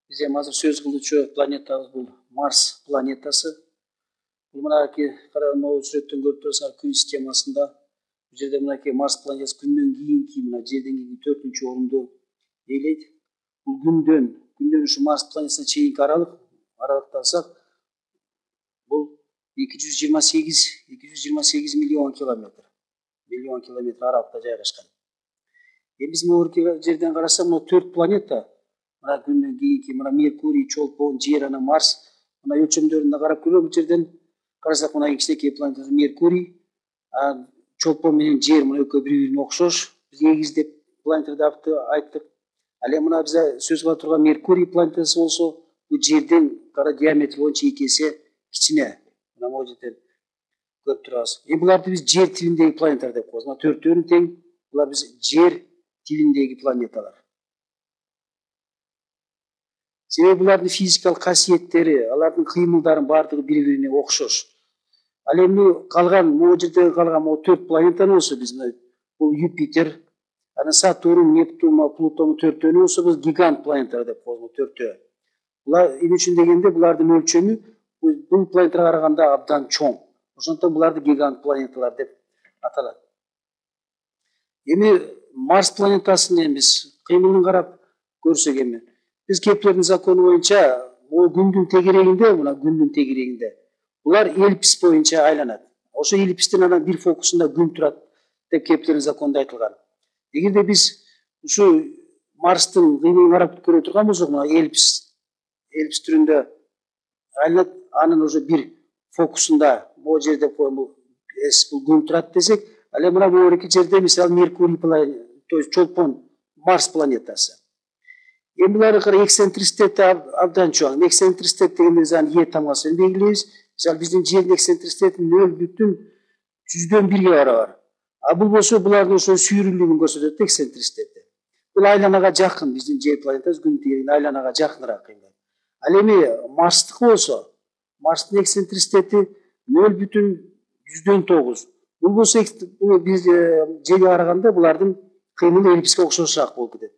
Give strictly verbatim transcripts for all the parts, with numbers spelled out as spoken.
Биз эми азыр сөз кылуучу планетабыз бул Марс планетасы. Бул мынакей караган могу сүрөттөн көрүп турасыңар, күн системасында. Бул жерде мынакей Марс планетасы күндөн кийинки мына жерден кийинки төртүнчү орунду ээлейт. Бул күндөн, күндөн ушу Марс планетасына чейинки аралык, аралыкты алсак, бул эки жүз жыйырма сегиз, эки жүз жыйырма сегиз миллион километр. Миллион километр аралыкта жайгашкан. Эми биз могу жерден карасак, мына төрт планета, мына күндөн кийинки мына Меркурий, Чолпон, Жер, анан Марс. Мына өлчөмдөрүндө карап көрөлү, бул жерден карасак, мына кичинекей планета Меркурий, а Чолпон менен Жер мына экөө бири-бирине окшош. Биз эгиз деп планеталарды айттык. Ал эми мына биз сөз кыла турган Меркурий планетасы болсо, бул Жерден кара диаметр боюнча эки эсе кичине. Мына могу жерден көрүп турабыз. Эми буларды биз Жер тибиндеги планеталар деп коебуз. Мына төртөөнү тең, булар биз Жер тибиндеги планеталар. Себеби булардын физикалык касиеттери, алардын кыймылдарын бардыгы бири-бирине окшош. Ал эми калган могу жерде калган могу төрт планетаны болсо биз бул Юпитер, анан Сатурн, Нептун, Плутон төртөөнү болсо биз гигант планеталар деп коебуз, төртөө. Булар эмне үчүн дегенде булардын өлчөмү бул планеталарга караганда абдан чоң. Ошондуктан буларды гигант планеталар деп аталат. Эми Марс планетасын эми биз кыймылын карап көрсөк эми биз Кеплердин закону боюнча могу күндүн тегерегинде, мына күндүн тегерегинде булар эллипс боюнча айланат. Ошо эллипстин анан бир фокусунда күн турат деп Кеплердин законунда айтылган. Эгерде биз ушу Марстын кыймылын карап көрө турган болсок, мына эллипс эллипс түрүндө айланат, анын уже бир фокусунда могу жерде бул күн турат десек, ал эми мына могу жерде мисалы Меркурий планета, то есть Чолпон, Марс планетасы. Эми буларды кара эксцентриситети абдан чоң. Эксцентриситет дегенде биз аны Е тамгасы менен белгилейбиз. Мисалы биздин Жердин эксцентриситети нөл бүтүн жүздөн бирге барабар. А бул болсо булардын ошо сүйрүлүгүн көрсөтөт, эксцентриситети. Бул айланага жакын, биздин Жер планетасы күн тегерегине айланага жакыныраак кыймылдайт. Ал эми Марстыкы болсо, Марстын эксцентриситети нөл бүтүн жүздөн тогуз. Бул болсо биз Жерге караганда булардын кыймылы эллипске окшошураак болуп кетет.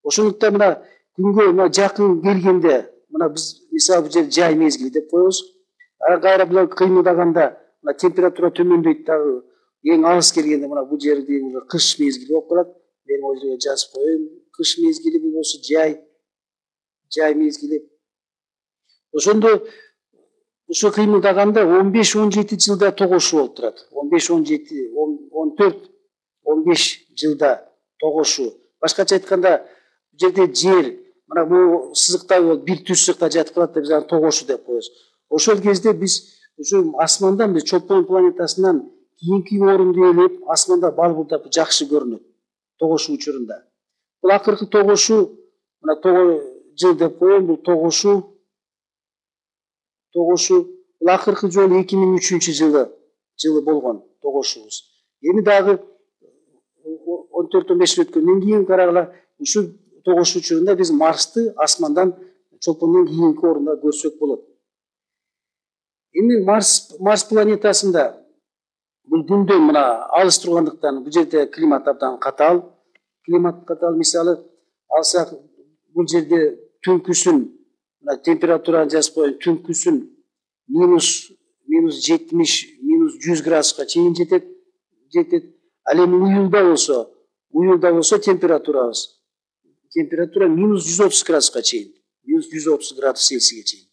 Ошондуктан мына күнгө мына жакын келгенде, мына биз мисалы бул жер жай мезгили деп коебуз. Ага кайра булар кыймылдаганда мына температура төмөндөйт дагы. Эң алыс келгенде мына бул жерде кыш мезгили болуп калат. Мен могу жерге жазып коеюн. Кыш мезгили бул болсо жай, жай мезгили. Ошондо ушу кыймылдаганда он беш он жети жылда тогошуу болуп турат. он беш он жети он төрт он беш жылда тогошуу. Башкача айтканда, бул жерде Жер мына бул сызыктай болуп бир түз сызыкта жатып калат деп биз аны тогошуу деп коебуз. Ошол кезде биз ушу асмандан биз Чолпон планетасынан кийинки орунду ээлеп, асманда балбырдап жакшы көрүнөт тогошуу учурунда. Бул акыркы тогошуу мына тогуз жыл деп коеюн, бул тогошуу тогошуу бул акыркы жолу эки миң үчүнчү жылы жылы болгон тогошуубуз. Эми дагы он төрт он беш жыл өткөндөн кийин карагыла, ушу тогошуу учурунда биз Марсты асмандан Чолпондон кийинки орунда көрсөк болот. Эми Марс Марс планетасында бул күндөн мына алыс тургандыктан бул жерде климат абдан катаал. Климат катаал, мисалы алсак, бул жерде түнкүсүн мына температураны жазып коеюн, түнкүсүн минус минус жетимиш, минус жүз градуска чейин жетет, жетет. Ал эми уюлда болсо, уюлда болсо температурабыз, температура минус жүз отуз градуска чейин, минус жүз отуз градус Цельсийге чейин.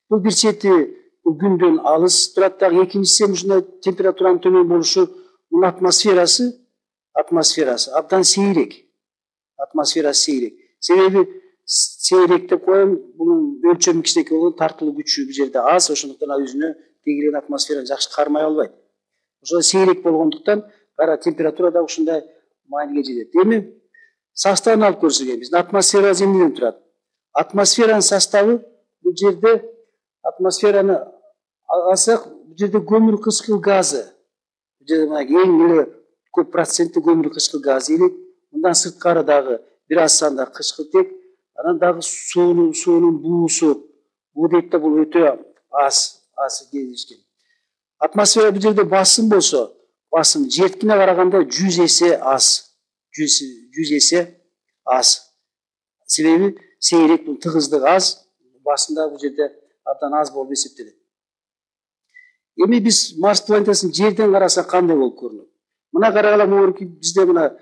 Бул бир чети бул күндөн алыс турат, дагы экинчиси ушундай температуранын төмөн болушу, мунун атмосферасы, атмосферасы абдан сейрек. Атмосферасы сейрек. Себеби сейрек деп коем, бунун өлчөмү кичинекей болгон, тартылуу күчү бул жерде аз, ошондуктан ал өзүнө тегереген атмосфераны жакшы кармай албайт. Ошо сейрек болгондуктан кара температура да ушундай мааниге жетет. Эми составын алып көрсөк, биздин атмосфера эмнеден турат? Атмосферанын составы бул жерде, атмосфераны алсак, бул жерде көмүр кычкыл газы. Бул жерде мына эң эле көп процентти көмүр кычкыл газы элек. Мындан сырткары дагы бир аз санда кычкылтек, анан дагы суунун суунун буусу, буу дейт да, бул өтө аз, аз кездешкен. Атмосфера бул жерде басым болсо, басым Жердикине караганда жүз эсе аз. жүз эсе аз. Себеби сейрек, бул тыгыздык аз, басында бул жерде абдан аз болуп эсептелет. Эми биз Марс планетасын жерден карасак кандай болуп көрүнөт? Мына карагыла, могуки бизде мына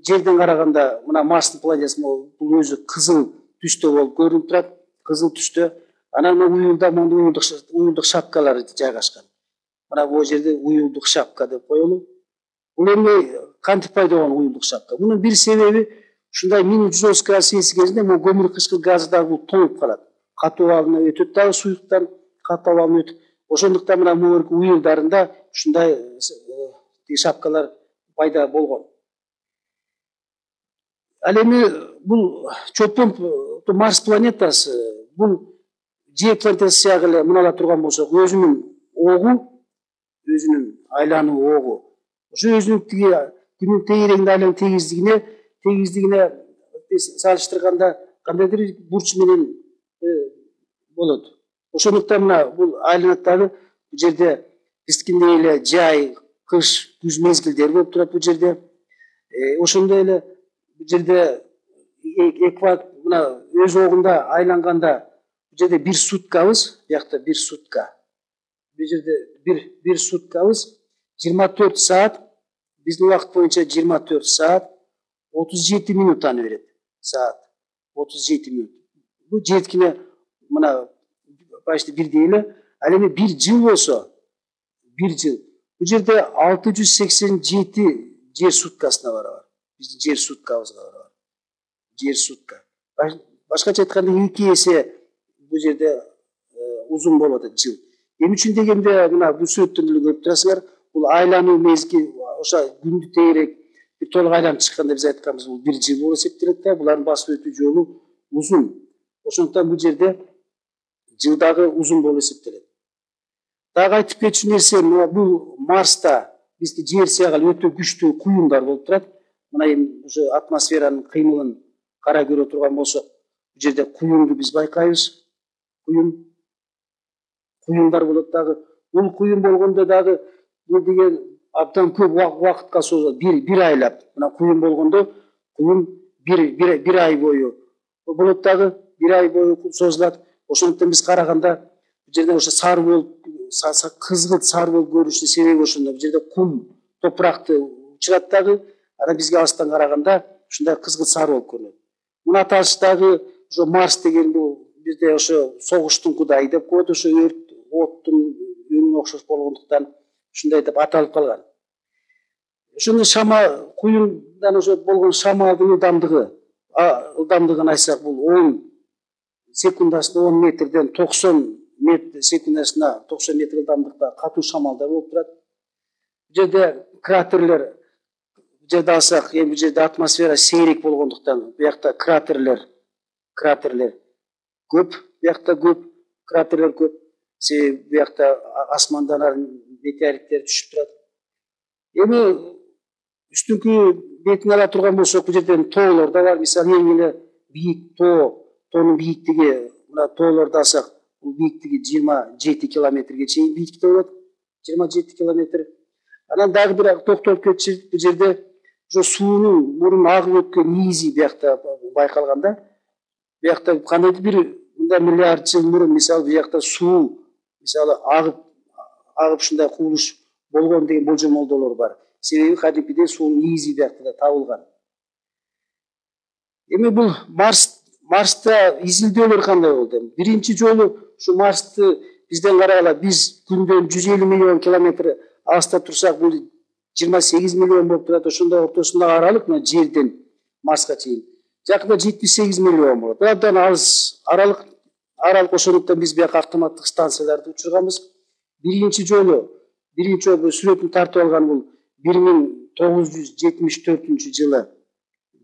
жерден караганда мына Марстын планетасы бул өзү кызыл түстө болуп көрүнүп турат, кызыл түстө. Анан мына уюлда моундай уюлдук уюлдук шапкалар жайгашкан. Мына бул жерде уюлдук шапка деп коелу. Бул эми кантип пайда болгон уюлдук шапка? Мунун бир себеби ушундай минус жүз отуз градус Цельсий кезинде могу көмүр кычкыл газы дагы бул тоңуп калат. Катуу абалына өтөт дагы суюктан, катуу абалына өтүп. Ошондуктан мына могу уюлдарында ушундай шапкалар пайда болгон. Ал эми бул чөпөн Марс планетасы бул Жер планетасы сыягы эле мыналар турган болсок, өзүнүн огу, өзүнүн айлануу огу, ошо өзүнүн тиги күнүн тегерегинде айлануу тегиздигине, тегиздигине салыштырганда кандайдыр бурч менен болот. Ошондуктан мына бул айланат дагы бул жерде биздикиндей эле жай, кыш, күз мезгилдери болуп турат бул жерде. Ошондой эле бул жерде экватор мына өз огунда айланганда бул жерде бир суткабыз, биякта бир сутка. Бул жерде бир бир суткабыз жыйырма төрт саат, биздин убакыт боюнча жыйырма төрт саат отуз жети минутаны берет. Саат отуз жети минут. Бул жеткине мына почти бирдей эле. Ал эми бир жыл болсо, бир жыл. Бул жерде алты жүз сексен жети жер суткасына барабар. Биздин жер суткабызга барабар. Жер сутка. Башкача айтканда эки эсе бул жерде узун болуп атат жыл. Эмне үчүн дегенде мына бул сүрөттөн деле көрүп турасыңар, бул айлануу мезгил, ошо күндү тегерек бир толук айланып чыкканда биз айтканбыз, бул бир жыл болуп эсептелет да, булардын басып өтүү жолу узун. Ошондуктан бул жерде жыл дагы узун болуп эсептелет. Дагы айтып кетчү нерсе, мына бул Марста бизди жер сыягы өтө күчтүү куюмдар болуп турат. Мына эми ошо атмосферанын кыймылын кара көрө турган болсок, бул жерде куюмду биз байкайбыз. Куюм куюмдар болот дагы. Бул куюм болгондо дагы бул деген абдан көп убакытка созулат, бир бир айлап. Мына куюм болгондо куюм бир бир ай бою болот дагы, бир ай бою созулат. Ошондуктан биз караганда бул жерде ошо сары болуп, кызгылт сары болуп көрүнүшүнүн себеби ошондо. Бул жерде кум, топуракты учурат дагы, анан бизге алыстан караганда ушундай кызгылт сары болуп көрүнөт. Муну аталыштагы ошо Марс деген бул бизде ошо согуштун кудайы деп коет, ошо өрт, оттун өнүнө окшош болгондуктан ушундай деп аталып калган. Ошондо шама куюмдан ошо болгон шамалдын ылдамдыгы, ылдамдыгын айтсак, бул он секундасына он метрден токсон метр секундасына токсон метр ылдамдыкта катуу шамалдар болуп турат. Бул жерде кратерлер, бул жерде алсак, эми бул жерде атмосфера сейрек болгондуктан биякта кратерлер, кратерлер көп, биякта көп, кратерлер көп. Себеби биякта асмандан метеориттер түшүп турат. Эми үстүнкү бетин ала турган болсок, бул жерден тоолор да бар. Мисалы, эң эле бийик тоо, тоонун бийиктиги, мына тоолорду алсак, бул бийиктиги жыйырма жети километрге чейин бийиктикте болот. жыйырма жети километр. Анан дагы бир токтолуп кетчү, бул жерде ошо суунун мурун агып өткөн низи биякта байкалган да. Биякта кандайдыр бир мындай миллиард жыл мурун, мисалы, биякта суу мисалы агып агып ушундай кубулуш болгон деген болжомолдолор бар. Себеби кадимкидей суунун низи биякта да табылган. Эми бул Марс Марста изилдөөлөр кандай болду? Биринчи жолу ушу Марсты бизден карагыла, биз күндөн жүз элүү миллион километр алыста турсак, бул жыйырма сегиз миллион болуп турат. Ошондой ортосундагы аралык мына жерден Марска чейин жакында жетимиш сегиз миллион болот. Абдан алыс аралык. Аралык ошондуктан биз бияка автоматтык станцияларды учурганбыз. Биринчи жолу, биринчи жолу сүрөтүн тартып алган бул бир миң тогуз жүз жетимиш төртүнчү жылы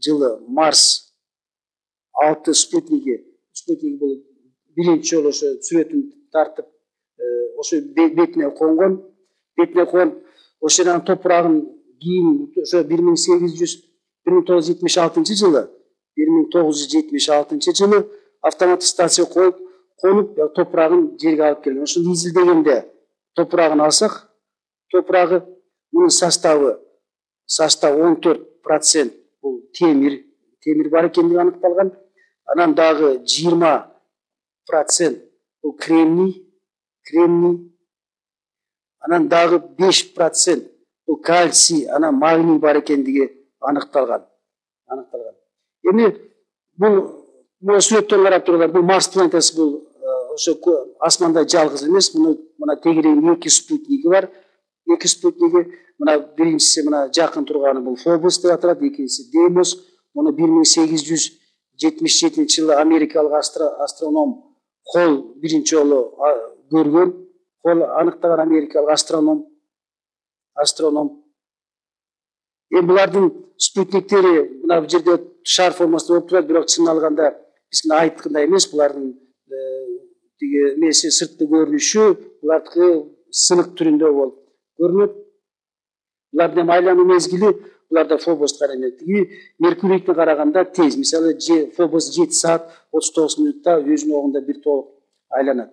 жылы Марс алты спутниги, спутник бул биринчи жолу ошо сүрөтүн тартып, ошо бетине конгон, бетине коюп, ошонун топурагын кийин ошо бир миң сегиз жүз бир миң тогуз жүз жетимиш алтынчы жылы, бир миң тогуз жүз жетимиш алтынчы жылы автоматтык станция коюп, конуп, топурагын жерге алып келген. Ошону изилдегенде топурагын алсак, топурагы мунун составы, состав он төрт процент бул темир, темир бар экендиги аныкталган. Анан дагы жыйырма процент бул кремний, кремний. Анан дагы беш процент бул кальций, анан магний бар экендиги аныкталган. Аныкталган. Эми бул мына сүрөттөн карап туруңар, бул Марс планетасы, бул ошо асманда жалгыз эмес. Муну мына тегерегинде эки спутниги бар. Эки спутниги, мына биринчиси мына жакын турганы бул Фобос деп аталат, экинчиси Деймос. Муну бир миң сегиз жүз жетимиш жетинчи жылы америкалык астроном Холл биринчи жолу көргөн. Холл аныктаган америкалык астроном. Астроном. Эми булардын спутниктери мына бул жерде шар формасында болуп турат, бирок чын алганда биз мына айткандай эмес. Булардын тиги эмеси, сырткы көрүнүшү булардыкы сынык түрүндө болуп көрүнөт. Булардын эми айлануу мезгили буларда Фобостко караганда тиги Меркурийге караганда тез. Мисалы Фобос жети саат отуз тогуз мүнөттө өзүнүн огунда бир толук айланат.